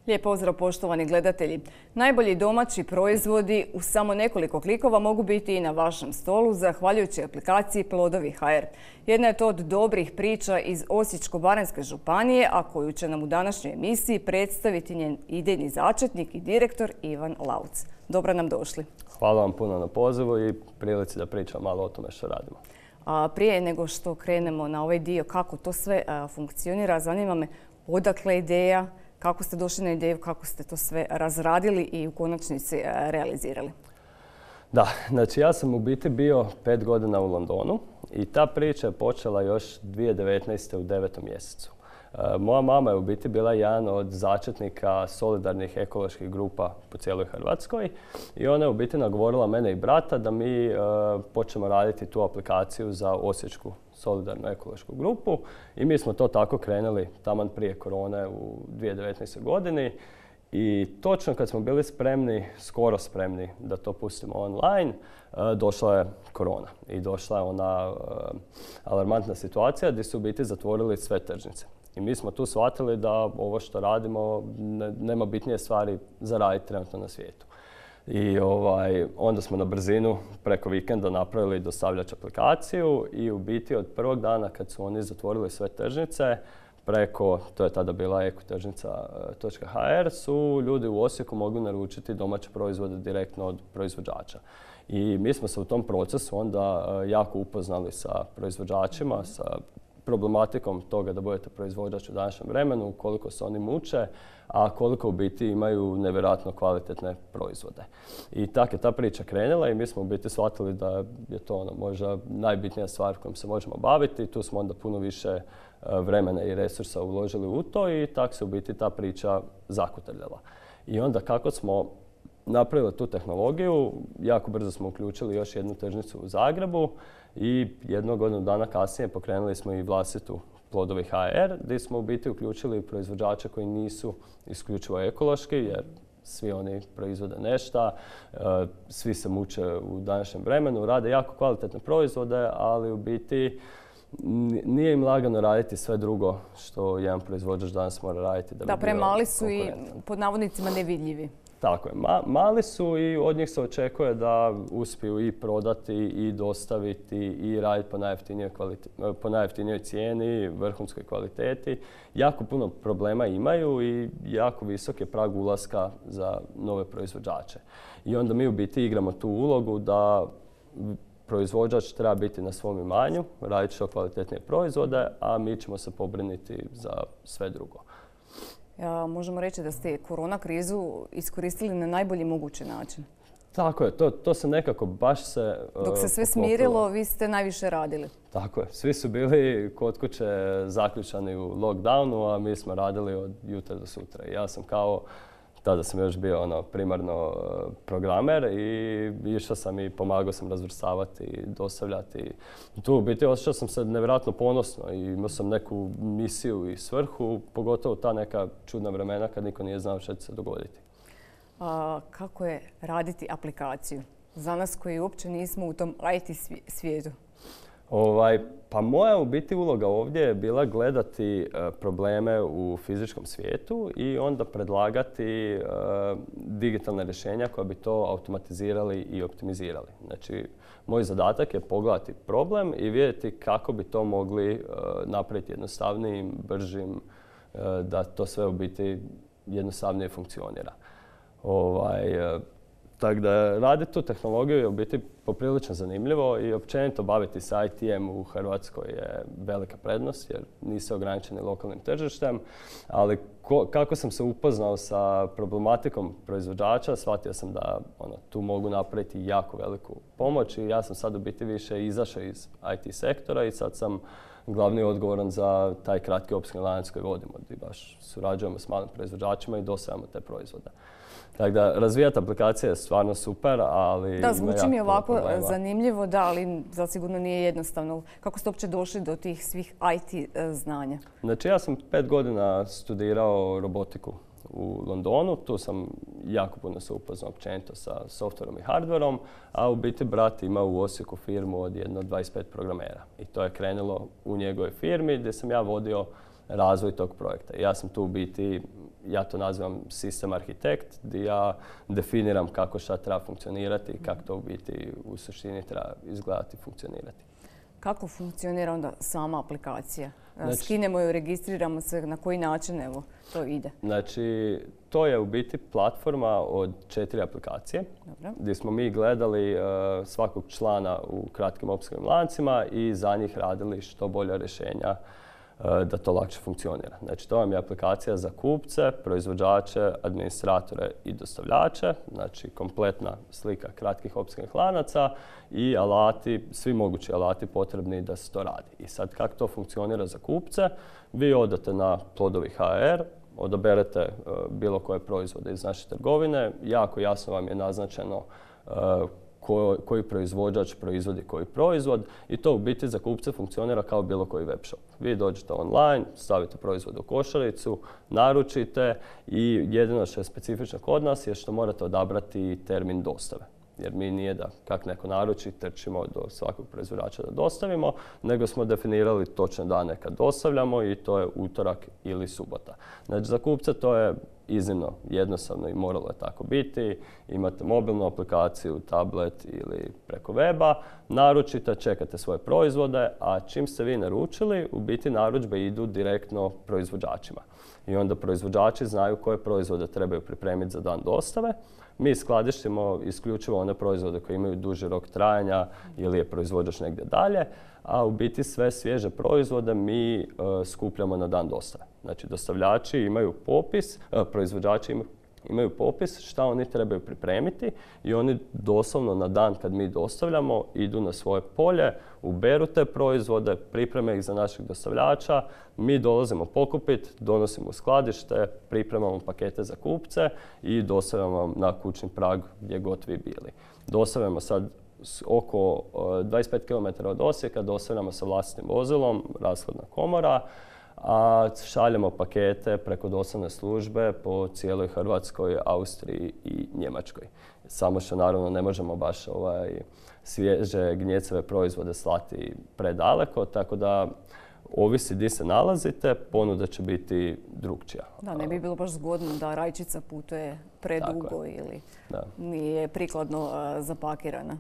Lijep pozdrav poštovani gledatelji. Najbolji domaći proizvodi u samo nekoliko klikova mogu biti i na vašem stolu zahvaljujući aplikaciji Plodovi.hr. Jedna je to od dobrih priča iz Osječko-baranjske županije, a koju će nam u današnjoj emisiji predstaviti njen idejni začetnik i direktor Ivan Lauc. Dobro nam došli. Hvala vam puno na pozivu i prilici da pričam malo o tome što radimo. Prije nego što krenemo na ovaj dio kako to sve funkcionira, zanima me odakle ideja, kako ste došli na ideju, kako ste to sve razradili i u konačnici realizirali? Da, znači ja sam u biti bio 5 godina u Londonu i ta priča je počela još 2019. u 9. mjesecu. Moja mama je u biti bila jedan od začetnika solidarnih ekoloških grupa po cijeloj Hrvatskoj i ona je u biti nagovorila mene i brata da mi počnemo raditi tu aplikaciju za Osječku solidarnu ekološku grupu i mi smo to tako krenuli taman prije korone u 2019. godini i točno kad smo bili spremni, skoro spremni da to pustimo online, došla je korona i došla je ona alarmantna situacija gdje su u biti zatvorili sve tržnice. I mi smo tu shvatili da ovo što radimo nema bitnije stvari za raditi trenutno na svijetu. I onda smo na brzinu preko vikenda napravili dostavljač aplikaciju i u biti od prvog dana kad su oni zatvorili sve tržnice, preko, to je tada bila ekotržnica.hr, su ljudi u Osijeku mogli naručiti domaće proizvode direktno od proizvođača. I mi smo se u tom procesu onda jako upoznali sa proizvođačima, sa problematikom toga da budete proizvođač u današnjem vremenu, koliko se oni muče, a koliko u biti imaju nevjerojatno kvalitetne proizvode. I tako je ta priča krenula i mi smo u biti shvatili da je to možda najbitnija stvar kojom se možemo baviti. Tu smo onda puno više vremena i resursa uložili u to i tako se u biti ta priča zakotrljala. I onda kako smo napravili tu tehnologiju, jako brzo smo uključili još jednu tržnicu u Zagrebu i jednog godinu dana kasnije pokrenuli smo i vlastitu Plodovi.hr gdje smo u biti uključili proizvođače koji nisu isključivo ekološki jer svi oni proizvode nešto, svi se muče u današnjem vremenu, rade jako kvalitetne proizvode, ali u biti nije im lagano raditi sve drugo što jedan proizvođač danas mora raditi da bi bio premali su i konkurentan. pod navodnicima nevidljivi. Tako je. Mali su i od njih se očekuje da uspiju i prodati i dostaviti i raditi po najjeftinijoj cijeni, vrhunskoj kvaliteti. Jako puno problema imaju i jako visok je prag ulaska za nove proizvođače. I onda mi u biti igramo tu ulogu da proizvođač treba biti na svom imanju, raditi što kvalitetnije proizvode, a mi ćemo se pobriniti za sve drugo. Možemo reći da ste korona krizu iskoristili na najbolji mogući način. Tako je, to se nekako baš se Dok se sve smirilo, vi ste najviše radili. Tako je, svi su bili kod kuće zaključani u lockdownu, a mi smo radili od jutra do sutra. Ja sam tada sam još bio primarno programer i išao sam i pomagao sam razvrstavati i dostavljati. Tu u biti osjećao sam se nevjerojatno ponosno i imao sam neku misiju i svrhu, pogotovo ta neka čudna vremena kad niko nije znao što će se dogoditi. Kako je raditi aplikaciju za nas koji uopće nismo u tom IT svijetu? Pa moja u biti uloga ovdje je bila gledati probleme u fizičkom svijetu i onda predlagati digitalne rješenja koja bi to automatizirali i optimizirali. Znači, moj zadatak je pogledati problem i vidjeti kako bi to mogli napraviti jednostavnijim, bržim, da to sve u biti jednostavnije funkcionira. Tako da raditi tu tehnologiju je u biti poprilično zanimljivo i općenito baviti se IT-em u Hrvatskoj je velika prednost jer niste ograničeni lokalnim tržištem, ali kako sam se upoznao sa problematikom proizvođača, shvatio sam da tu mogu napraviti jako veliku pomoć i ja sam sad u biti više izašao iz IT sektora i sad sam glavni odgovoran za taj kratki opskrbni lanac koji vodimo, gdje baš surađujemo s malim proizvođačima i dostavljamo te proizvode. Tako da, razvijati aplikacije je stvarno super, ali da, zvuči mi ovako zanimljivo, da, ali zasigurno nije jednostavno. Kako ste uopće došli do tih svih IT znanja? Znači, ja sam 5 godina studirao robotiku u Londonu. Tu sam jako puno se upoznao općenito sa softverom i hardverom, a u biti brat ima u Osijeku firmu od 25 programera. I to je krenulo u njegovoj firmi gdje sam ja vodio razvoj tog projekta. Ja sam tu u biti ja to nazivam sistem arhitekt, gdje ja definiram kako šta treba funkcionirati i kako to u biti u suštini treba izgledati i funkcionirati. Kako funkcionira onda sama aplikacija? Skinemo ju, registriramo se, na koji način evo, to ide? Znači, to je u biti platforma od 4 aplikacije. Dobro. Gdje smo mi gledali svakog člana u kratkim opskrbnim lancima i za njih radili što bolja rješenja da to lakše funkcionira. Znači, to vam je aplikacija za kupce, proizvođače, administratore i dostavljače. Znači, kompletna slika kratkih opskrbnih lanaca i alati, svi mogući alati potrebni da se to radi. I sad, kako to funkcionira za kupce? Vi odete na Plodovi.hr, odaberete bilo koje proizvode iz naše trgovine, jako jasno vam je naznačeno koji proizvođač proizvodi koji proizvod i to u biti za kupce funkcionira kao bilo koji web shop. Vi dođete online, stavite proizvod u košaricu, naručite i jedino što je specifično kod nas je što morate odabrati termin dostave. Jer mi nije da kak neko naruči, trčimo do svakog proizvođača da dostavimo, nego smo definirali točne dane kad dostavljamo i to je utorak ili subota. Znači za kupce to je iznimno jednostavno i moralo je tako biti. Imate mobilnu aplikaciju, tablet ili preko weba, naručite, čekate svoje proizvode, a čim ste vi naručili, u biti narudžbe idu direktno proizvođačima. I onda proizvođači znaju koje proizvode trebaju pripremiti za dan dostave. Mi skladištimo isključivo one proizvode koji imaju duži rok trajanja ili je proizvođač negdje dalje, a u biti sve svježe proizvode mi skupljamo na dan dostave. Znači dostavljači imaju popis, proizvođači imaju popis šta oni trebaju pripremiti i oni doslovno na dan kad mi dostavljamo idu na svoje polje, uberu te proizvode, pripreme ih za našeg dostavljača, mi dolazimo pokupiti, donosimo u skladište, pripremamo pakete za kupce i dostavljamo na kućni prag gdje god vi bili. Dostavljamo sad oko 25 km od Osijeka, dostavljamo sa vlastitim vozilom, rashladna komora, a šaljemo pakete preko dostavne službe po cijeloj Hrvatskoj, Austriji i Njemačkoj. Samo što naravno ne možemo baš svježe gnjecove proizvode slati predaleko, tako da ovisi gdje se nalazite, ponuda će biti drukčija. Da, ne bi bilo baš zgodno da rajčica putuje predugo ili nije prikladno zapakirana.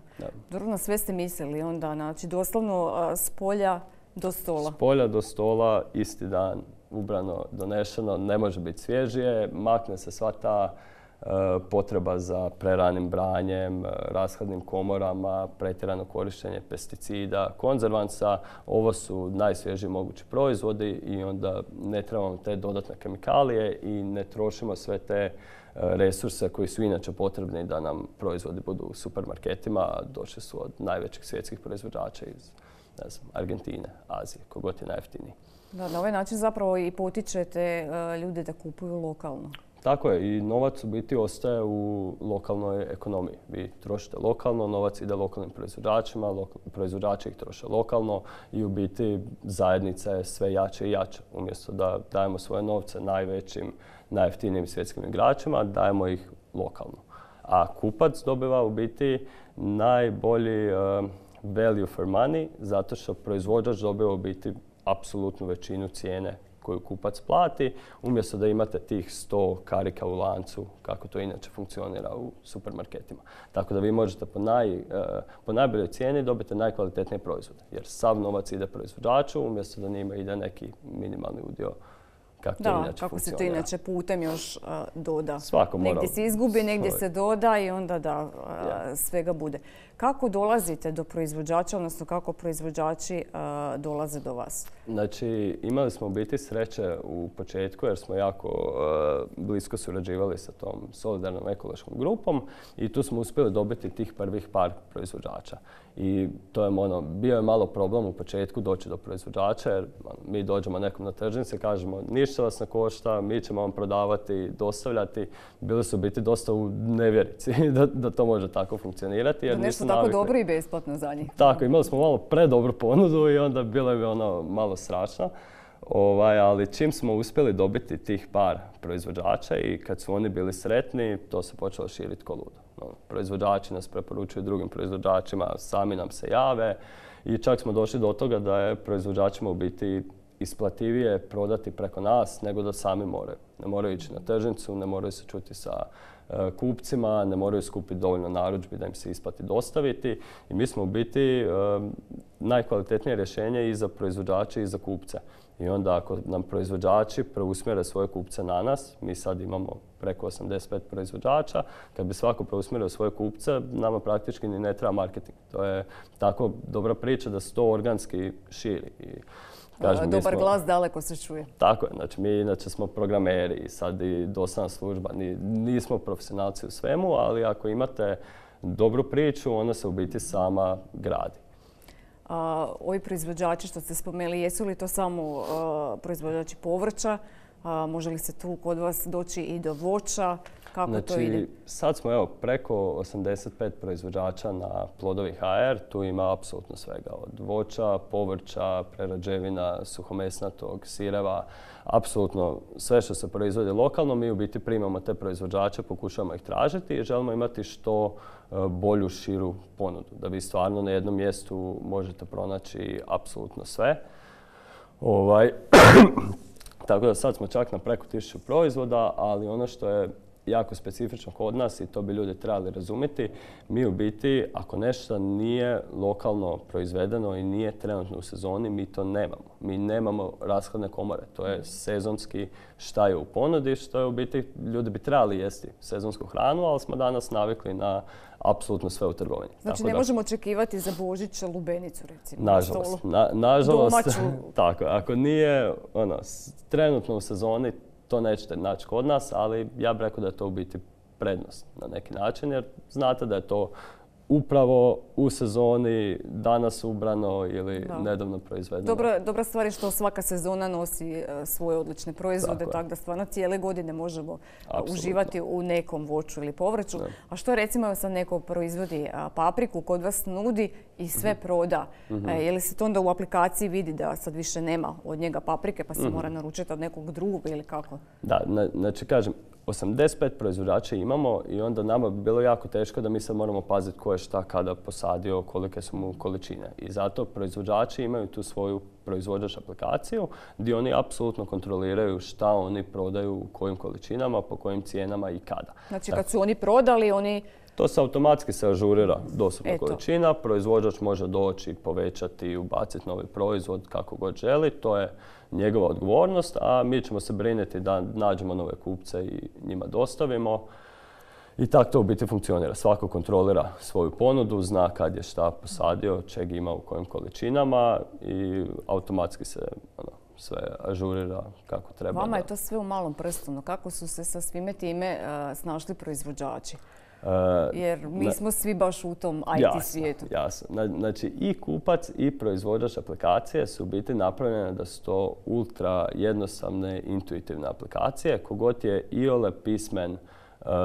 Dobro, na sve ste mislili onda, znači doslovno s polja do stola. S polja do stola, isti dan, ubrano, donešeno, ne može biti svježije, makne se sva ta potreba za preranim branjem, rashladnim komorama, pretjerano korištenje pesticida, konzervansa. Ovo su najsvježiji mogući proizvodi i onda ne trebamo te dodatne kemikalije i ne trošimo sve te resurse koji su inače potrebni da nam proizvodi budu u supermarketima, a došli su od najvećih svjetskih proizvođača iz Argentine, Azije, kogod je najjeftiniji. Da, na ovaj način zapravo i potičete ljude da kupuju lokalno. Tako je i novac u biti ostaje u lokalnoj ekonomiji. Vi trošite lokalno, novac ide lokalnim proizvođačima, proizvođači ih troše lokalno i u biti zajednica je sve jače i jače. Umjesto da dajemo svoje novce najvećim, najjeftinijim svjetskim igračima, dajemo ih lokalno. A kupac dobiva u biti najbolji value for money zato što proizvođač dobiva u biti apsolutnu većinu cijene koju kupac plati, umjesto da imate tih 100 karika u lancu, kako to inače funkcionira u supermarketima. Tako da vi možete po najboljoj cijeni dobiti najkvalitetnije proizvode, jer sav novac ide proizvođaču, umjesto da njima ide neki minimalni udio kako to inače kako se to inače putem još doda. Svako mora. Negdje se izgubi, negdje se doda i onda svega bude. Kako dolazite do proizvođača, odnosno kako proizvođači dolaze do vas? Znači, imali smo u biti sreće u početku jer smo jako blisko surađivali sa tom solidarnom ekološkom grupom i tu smo uspjeli dobiti tih prvih par proizvođača. I to je bio je malo problem u početku doći do proizvođača jer mi dođemo nekom na tržnici i kažemo ništa vas ne košta, mi ćemo vam prodavati, dostavljati. Bili su biti dosta u nevjerici da to može tako funkcionirati. Jer nešto tako dobro i besplatno za njih. Tako, imali smo malo predobru ponudu i onda bilo je malo strašno. Ali čim smo uspjeli dobiti tih par proizvođača i kad su oni bili sretni, to se počelo širiti ko ludo. Proizvođači nas preporučuju drugim proizvođačima, sami nam se jave i čak smo došli do toga da je proizvođačima u biti isplativije prodati preko nas nego da sami moraju. Ne moraju ići na tržnicu, ne moraju se čuti sa kupcima, ne moraju skupiti dovoljno narudžbi da im se isplati dostaviti. I mi smo u biti najkvalitetnije rješenje i za proizvođače i za kupce. I onda ako nam proizvođači preusmjere svoje kupce na nas, mi sad imamo preko 85 proizvođača, kad bi svako preusmjerio svoje kupce, nama praktički ni ne treba marketing. To je tako dobra priča da se to organski širi. Kažem, dobar glas daleko se čuje. Tako je, znači mi inače smo programeri i sad i dosadna služba, nismo profesionalci u svemu, ali ako imate dobru priču, ona se u biti sama gradi. Ovi proizvođači što ste spomenuli, jesu li to samo proizvođači povrća? Može li se tu kod vas doći i do voća? Kako to ide? Sad smo preko 85 proizvođača na Plodovi.hr. Tu ima apsolutno svega. Od voća, povrća, prerađevina, suhomesnatog, sireva. Apsolutno sve što se proizvodi lokalno. Mi u biti primamo te proizvođače, pokušavamo ih tražiti i želimo imati što bolju, širu ponudu. Da vi stvarno na jednom mjestu možete pronaći apsolutno sve. Tako da sad smo čak na preko 1000 proizvoda, ali ono što je jako specifično kod nas i to bi ljudi trebali razumjeti, mi u biti, ako nešto nije lokalno proizvedeno i nije trenutno u sezoni, mi to nemamo. Mi nemamo rashladne komore. To je sezonski šta je u ponudi, što je u biti, ljudi bi trebali jesti sezonsku hranu, ali smo danas navikli na apsolutno sve u trgovini. Znači ne možemo očekivati za Božić lubenicu, recimo, nažalost, na stolu? Nažalost, domaću. Tako, ako nije trenutno u sezoni, to nećete naći kod nas, ali ja bih rekao da je to u biti prednost na neki način, jer znate da je to upravo u sezoni danas ubrano ili nedavno proizvedeno. Dobra stvar je što svaka sezona nosi svoje odlične proizvode, tako da stvarno cijele godine možemo uživati u nekom voću ili povrću. A što recimo sad neko proizvodi papriku, kod vas nudi i sve proda. Je li se to onda u aplikaciji vidi da sad više nema od njega paprike pa se mora naručiti od nekog drugog ili kako? Da, znači kažem, 85 proizvođača imamo i onda nama bi bilo jako teško da mi sad moramo paziti ko je šta kada posadio, kolike su mu količine. I zato proizvođači imaju tu svoju proizvođač aplikaciju gdje oni apsolutno kontroliraju šta oni prodaju, u kojim količinama, po kojim cijenama i kada. Znači kad su oni prodali, oni... To se automatski ažurira dostupna količina, proizvođač može doći, povećati, ubaciti novi proizvod kako god želi, to je njegova odgovornost, a mi ćemo se brinuti da nađemo nove kupce i njima dostavimo. I tako to u biti funkcionira. Svako kontrolira svoju ponudu, zna kad je šta posadio, čeg ima u kojim količinama i automatski se sve ažurira kako treba. Vama je to sve u malom prstu. Kako su se sa svime time snašli proizvođači? Jer mi smo svi baš u tom IT svijetu. Jasno. Znači i kupac i proizvođač aplikacije su u biti napravljene da su to ultra jednostavne, intuitivne aplikacije. Kogod je iole pismen,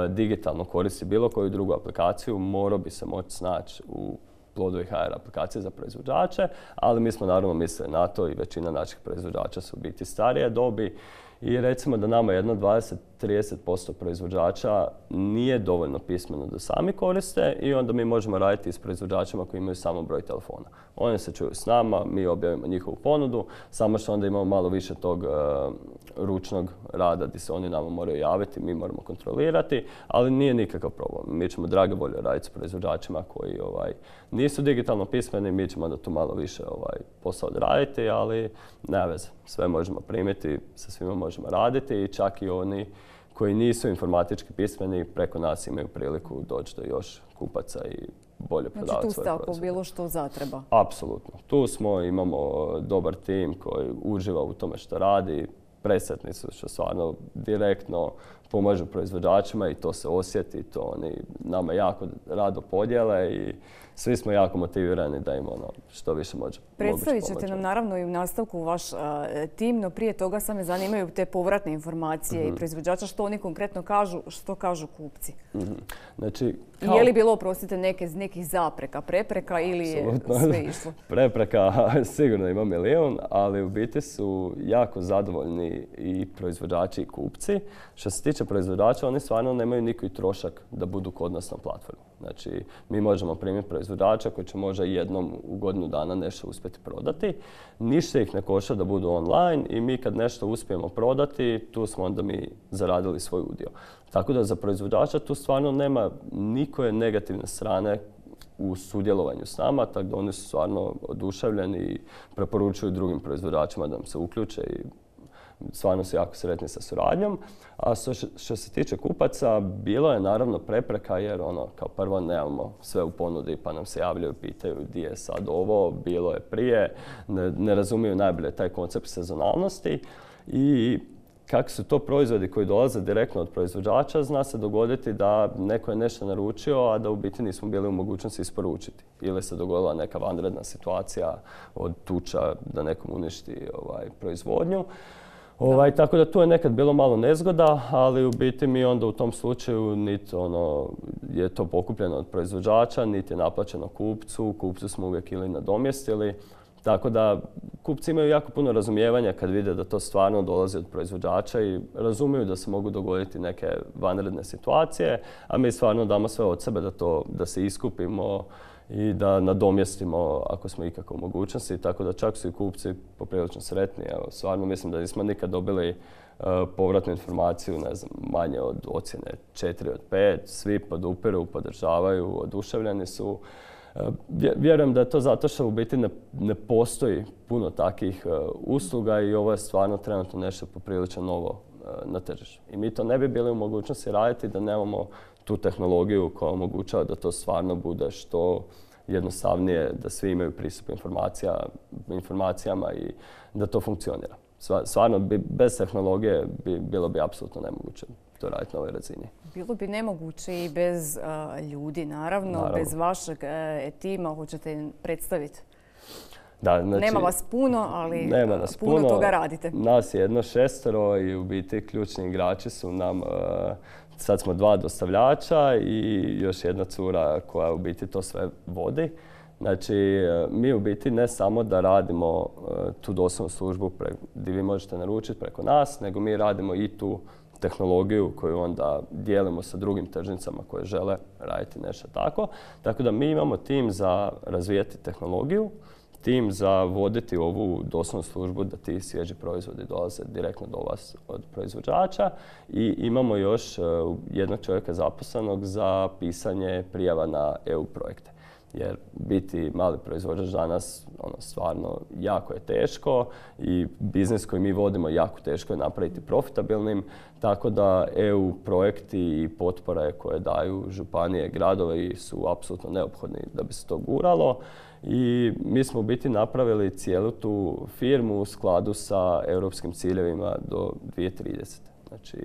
digitalno koristi bilo koju drugu aplikaciju, morao bi se moći snaći u Plodovi.hr aplikacije za proizvođače, ali mi smo naravno mislili na to i većina naših proizvođača su u biti starije dobi. I recimo da nama jedno 20-30% proizvođača nije dovoljno pismeno da sami koriste i onda mi možemo raditi s proizvođačima koji imaju samo broj telefona. Oni se čuju s nama, mi objavimo njihovu ponudu, samo što onda imamo malo više tog ručnog rada gdje se oni nama moraju javiti, mi moramo kontrolirati, ali nije nikakav problem. Mi ćemo drage volje raditi s proizvođačima koji nisu digitalno pismeni, mi ćemo onda tu malo više posao odraditi, ali nema veze. Sve možemo primiti, sa svima možemo raditi i čak i oni koji nisu informatički pismeni preko nas imaju priliku doći do još kupaca i bolje prodavati svoje proizvode. Znači tu ste ako bilo što zatreba? Apsolutno. Tu smo, imamo dobar tim koji uživa u tome što radi. Presretni su što stvarno direktno pomažu proizvođačima i to se osjeti. To oni nama jako rado podijele i svi smo jako motivirani da im što više može pomoći. Predstavit ćete nam naravno i u nastavku vaš tim, no prije toga sad me zanimaju te povratne informacije i proizvođača, što oni konkretno kažu, što kažu kupci. Znači, je li bilo, oprostite, nekih zapreka, prepreka ili je sve išlo? Prepreka sigurno ima milijun, ali u biti su jako zadovoljni strani i proizvođači i kupci. Što se tiče proizvođača, oni stvarno nemaju nikakvi trošak da budu kod nas na platformi. Znači, mi možemo primiti proizvođača koji će možda jednom u godinu dana nešto uspjeti prodati. Ništa ih ne košta da budu online i mi kad nešto uspijemo prodati, tu smo onda mi zaradili svoj udio. Tako da za proizvođača tu stvarno nema nikoje negativne strane u sudjelovanju s nama, tako da oni su stvarno oduševljeni i preporučuju drugim proizvođačima da nam se uključe i stvarno su jako sretni sa suradnjom. A što se tiče kupaca, bilo je naravno prepreka jer kao prvo nemamo sve u ponudi pa nam se javljaju, pitaju gdje je sad ovo, bilo je prije, ne razumiju najbolje taj koncept sezonalnosti i kako su to proizvodi koji dolaze direktno od proizvođača, zna se dogoditi da neko je nešto naručio, a da u biti nismo bili u mogućnosti isporučiti. Ili se dogodila neka vanredna situacija od tuča da nekom uništi proizvodnju. Tako da tu je nekad bilo malo nezgoda, ali u biti mi onda u tom slučaju niti je to pokupljeno od proizvođača, niti je naplaćeno kupcu. Kupcu smo uvijek ili nadomjestili. Tako da kupci imaju jako puno razumijevanja kad vide da to stvarno dolazi od proizvođača i razumiju da se mogu dogoditi neke vanredne situacije, a mi stvarno damo sve od sebe da se iskupimo i da nadomjestimo ako smo ikako u mogućnosti. Tako da čak su i kupci poprilično sretni. Evo, stvarno mislim da nismo nikad dobili povratnu informaciju, ne znam, manje od ocjene 4 od 5. Svi podupiru, podržavaju, oduševljeni su. Vjerujem da je to zato što u biti ne postoji puno takvih usluga i ovo je stvarno trenutno nešto poprilično novo na tržištu. I mi to ne bi bili u mogućnosti raditi da nemamo tu tehnologiju koja omogućava da to stvarno bude što jednostavnije, da svi imaju pristup informacijama i da to funkcionira. Stvarno, bez tehnologije bilo bi apsolutno nemoguće to raditi na ovoj razini. Bilo bi nemoguće i bez ljudi, naravno, bez vašeg tima. Hoćete im predstaviti? Da, znači, nema vas puno, ali puno toga radite. Nas je 6 i u biti ključni igrači su nam, sad smo 2 dostavljača i još jedna cura koja u biti to sve vodi. Znači, mi u biti ne samo da radimo tu dostavnu službu gdje vi možete naručiti preko nas, nego mi radimo i tu tehnologiju koju onda dijelimo sa drugim tržnicama koje žele raditi nešto tako. Tako da mi imamo tim za razvijati tehnologiju, tim za voditi ovu dostavnu službu da ti svježi proizvodi dolaze direktno do vas od proizvođača i imamo još jednog čovjeka zaposlenog za pisanje prijava na EU projekte. Jer biti mali proizvođač danas stvarno jako je teško i biznis koji mi vodimo jako teško je napraviti profitabilnim, tako da EU projekti i potpore koje daju županije, gradovi su apsolutno neophodni da bi se to guralo. I mi smo u biti napravili cijelu tu firmu u skladu sa europskim ciljevima do 2030. Znači,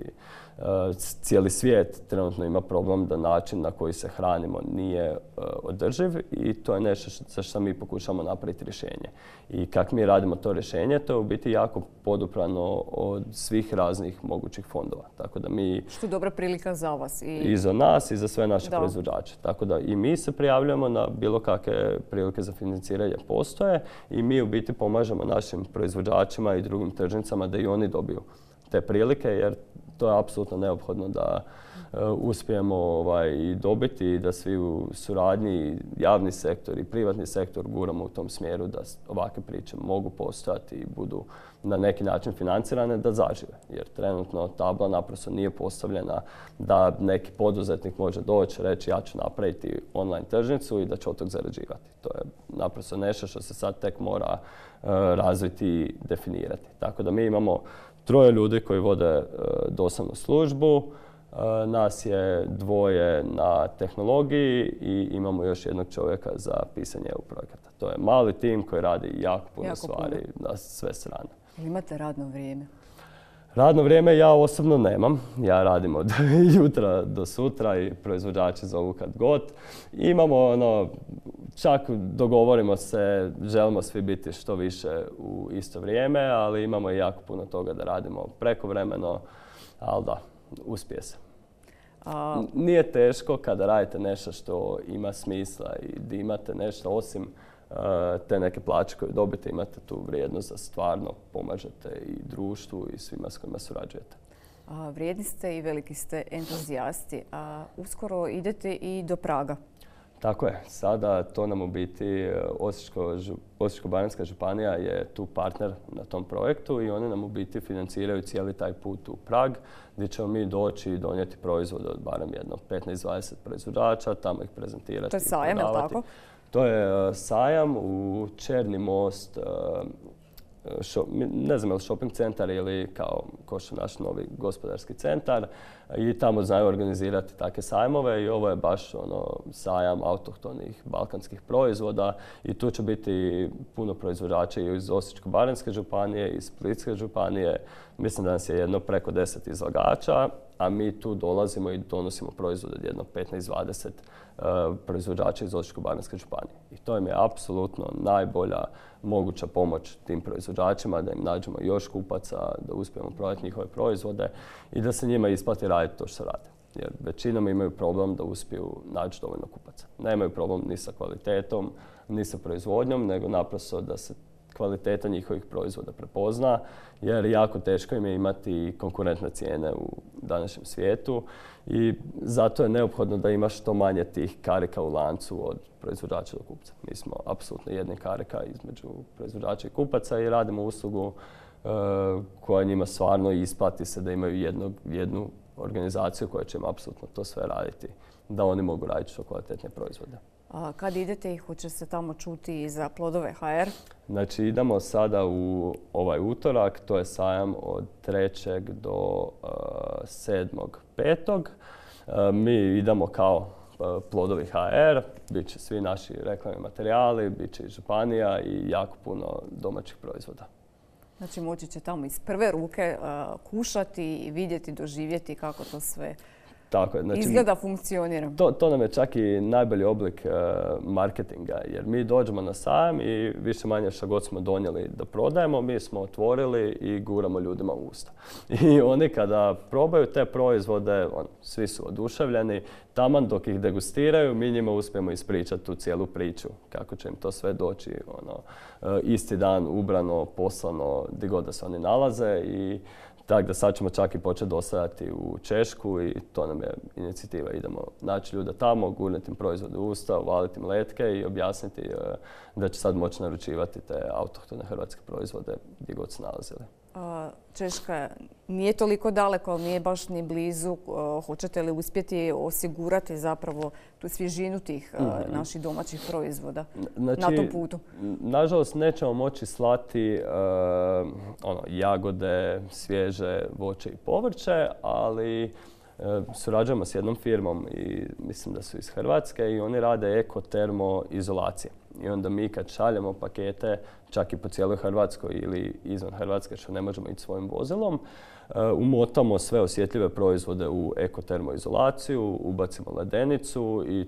cijeli svijet trenutno ima problem da način na koji se hranimo nije održiv i to je nešto za što mi pokušamo napraviti rješenje. I kako mi radimo to rješenje, to je u biti jako poduprano od svih raznih mogućih fondova. Tako da mi... Što je dobra prilika za vas. I za nas i za sve naše proizvođače. Tako da i mi se prijavljamo na bilo kakve prilike za financiranje postoje i mi u biti pomažemo našim proizvođačima i drugim tržnicama da i oni dobiju te prilike, jer to je apsolutno neophodno da uspijemo i dobiti i da svi u suradnji, javni sektor i privatni sektor guramo u tom smjeru da ovakve priče mogu postojati i budu na neki način financirane da zažive. Jer trenutno tabla naprosto nije postavljena da neki poduzetnik može doći, reći ja ću napraviti online tržnicu i da će od tog zarađivati. To je naprosto nešto što se sad tek mora razviti i definirati. Tako da mi imamo 3 ljudi koji vode dostavnu službu, nas je 2 na tehnologiji i imamo još jednog čovjeka za pisanje EU projekata. To je mali tim koji radi jako puno stvari na sve strane. Imate radno vrijeme? Radno vrijeme ja osobno nemam. Ja radim od jutra do sutra i proizvođači zovu kad god. Imamo čak dogovorimo se, želimo svi biti što više u isto vrijeme, ali imamo i jako puno toga da radimo prekovremeno, ali da, uspije se. Nije teško kada radite nešto što ima smisla i da imate nešto osim te neke plaće koje dobite, imate tu vrijednost da stvarno pomažete i društvu i svima s kojima surađujete. Vrijedni ste i veliki ste entuzijasti, a uskoro idete i do Praga. Tako je. Sada to nam u biti Osječko-baranjska županija je tu partner na tom projektu i oni nam u biti financiraju cijeli taj put u Prag gdje ćemo mi doći i donijeti proizvode od barem jedno 15-20 proizvođača, tamo ih prezentirati. To je sajam, je li tako? To je sajam u Černi most, ne znam je li shopping centar ili kao što je naš novi gospodarski centar i tamo znaju organizirati takve sajmove i ovo je baš sajam autohtonih balkanskih proizvoda i tu će biti puno proizvođača iz Osječko-baranjske županije, iz Splitske županije. Mislim da nas je jedno preko 10 izlagača, a mi tu dolazimo i donosimo proizvode od jedno 15-20 proizvođača iz Osječko-baranjske županije. I to im je apsolutno najbolja moguća pomoć tim proizvođačima, da im nađemo još kupaca, da uspijemo prodati njihove proizvode i da se njima isplati raditi to što rade. Jer većinom imaju problem da uspiju naći dovoljno kupaca. Nemaju problem ni sa kvalitetom, ni sa proizvodnjom, nego naprosto da se kvaliteta njihovih proizvoda prepozna, jer jako teško im je imati konkurentne cijene u današnjem svijetu i zato je neophodno da ima što manje tih karika u lancu od proizvođača do kupca. Mi smo apsolutno jedni karika između proizvođača i kupaca i radimo uslugu koja njima stvarno isplati se da imaju jednu organizaciju koja će im apsolutno to sve raditi, da oni mogu raditi što kvalitetne proizvode. Kad idete i hoće se tamo čuti i za Plodove HR? Znači idemo sada u ovaj utorak, to je sajam od 3. do 7.5. Mi idemo kao Plodovi HR, bit će svi naši reklamni materijali, bit će i županija i jako puno domaćih proizvoda. Znači moći će tamo iz prve ruke kušati i vidjeti, doživjeti kako to sve tako je. Znači, izgleda, funkcionira. To nam je čak i najbolji oblik marketinga, jer mi dođemo na sajam i više manje što god smo donijeli da prodajemo, mi smo otvorili i guramo ljudima u usta. I oni kada probaju te proizvode, svi su oduševljeni, taman dok ih degustiraju, mi njima uspijemo ispričati tu cijelu priču, kako će im to sve doći isti dan, ubrano, poslano, gdje god da se oni nalaze i tako da sad ćemo čak i početi dostavljati u Češku i to nam je inicijativa. Idemo naći ljude tamo, gurniti im proizvode u usta, uvaliti im letke i objasniti da će sad moći naručivati te autohtone hrvatske proizvode gdje god se nalazili. Češka nije toliko daleko, ali nije baš ni blizu. Hoćete li uspjeti osigurati zapravo tu svježinu tih naših domaćih proizvoda na tom putu? Nažalost, nećemo moći slati jagode, svježe voće i povrće, ali surađujemo s jednom firmom i mislim da su iz Hrvatske i oni rade eko-termoizolacije. I onda mi kad šaljemo pakete, čak i po cijeloj Hrvatskoj ili izvan Hrvatske, što ne možemo ići svojim vozilom, umotamo sve osjetljive proizvode u eko-termoizolaciju, ubacimo ledenicu i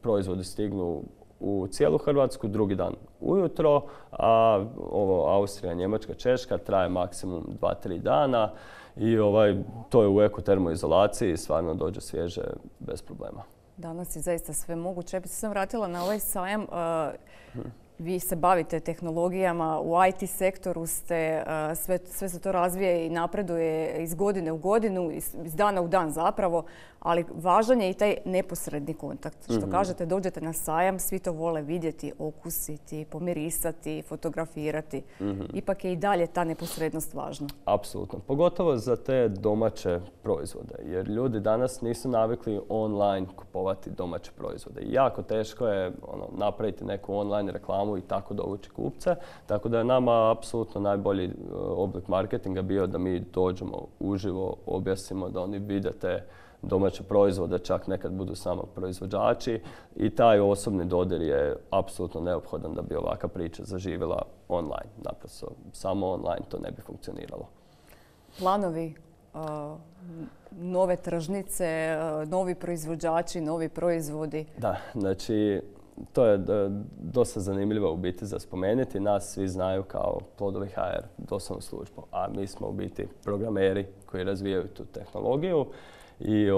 proizvodi stignu u cijelu Hrvatsku drugi dan ujutro, a ovo Austrija, Njemačka, Češka traje maksimum 2-3 dana i to je u eko-termoizolaciji i stvarno dođe svježe bez problema. Danas je zaista sve moguće. Ja bih se sam vratila na ovaj sajam. Vi se bavite tehnologijama, u IT sektoru ste, sve se to razvija i napreduje iz godine u godinu, iz dana u dan zapravo, ali važan je i taj neposredni kontakt. Što kažete, dođete na sajam, svi to vole vidjeti, okusiti, pomirisati, fotografirati. Ipak je i dalje ta neposrednost važna. Apsolutno. Pogotovo za te domaće proizvode, jer ljudi danas nisu navikli online kupovati domaće proizvode. Jako teško je napraviti neku online reklamu i tako dovući kupce. Tako da je nama apsolutno najbolji oblik marketinga bio da mi dođemo uživo, objasnimo da oni vide te domaće proizvode, čak nekad budu samo proizvođači i taj osobni dodir je apsolutno neophodan da bi ovakva priča zaživjela online. Naprosto, samo online to ne bi funkcioniralo. Planovi, nove tržnice, novi proizvođači, novi proizvodi? Da, znači to je dosta zanimljivo u biti za spomenuti. Nas svi znaju kao Plodovi HR, doslovnu službu, a mi smo u biti programeri koji razvijaju tu tehnologiju. I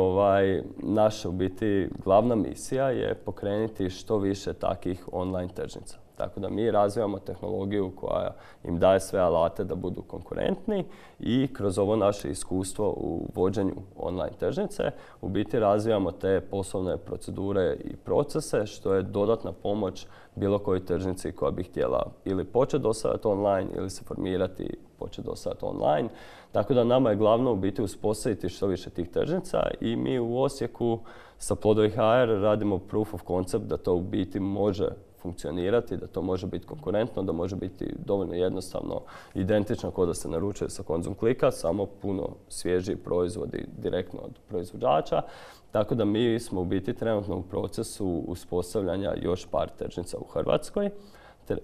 naša u biti glavna misija je pokrenuti što više takih online tržnica. Tako da mi razvijamo tehnologiju koja im daje sve alate da budu konkurentni i kroz ovo naše iskustvo u vođenju online tržnice u biti razvijamo te poslovne procedure i procese što je dodatna pomoć bilo kojoj tržnici koja bi htjela ili početi dostavljati online ili se formirati i početi dostavljati online. Tako da nama je glavno u biti uspostaviti što više tih tržnica i mi u Osijeku sa Plodovi HR radimo proof of concept da to u biti može funkcionirati, da to može biti konkurentno, da može biti dovoljno jednostavno identično kao da se naručuje sa Konzum klika, samo puno svježiji proizvodi direktno od proizvođača. Tako da mi smo u biti trenutno u procesu uspostavljanja još par tržnica u Hrvatskoj.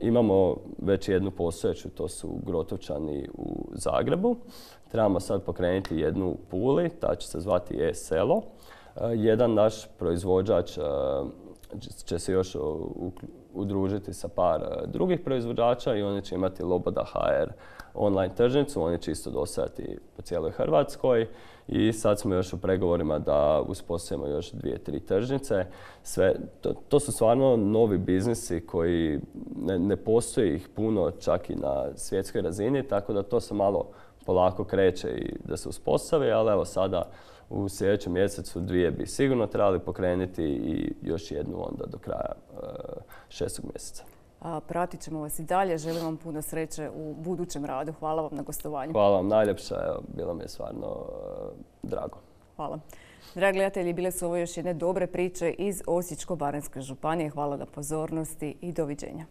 Imamo već jednu postojeću, to su Grotovčani u Zagrebu. Trebamo sad pokrenuti jednu u Puli, ta će se zvati e-selo. Jedan naš proizvođač će se još udružiti sa par drugih proizvođača i oni će imati Loboda HR online tržnicu, oni će isto dostavljati po cijeloj Hrvatskoj i sad smo još u pregovorima da uspostavimo još 2-3 tržnice. To su stvarno novi biznisi koji ne postoji ih puno čak i na svjetskoj razini, tako da to se malo polako kreće i da se uspostavi, ali evo sada u sljedećem mjesecu 2 bi sigurno trebali pokrenuti i još jednu onda do kraja 6. mjeseca. Pratit ćemo vas i dalje. Želim vam puno sreće u budućem radu. Hvala vam na gostovanju. Hvala vam najljepša. Bilo mi je stvarno drago. Hvala. Dragi gledatelji, bile su ovo još jedne dobre priče iz Osječko-baranjske županije. Hvala na pozornosti i doviđenja.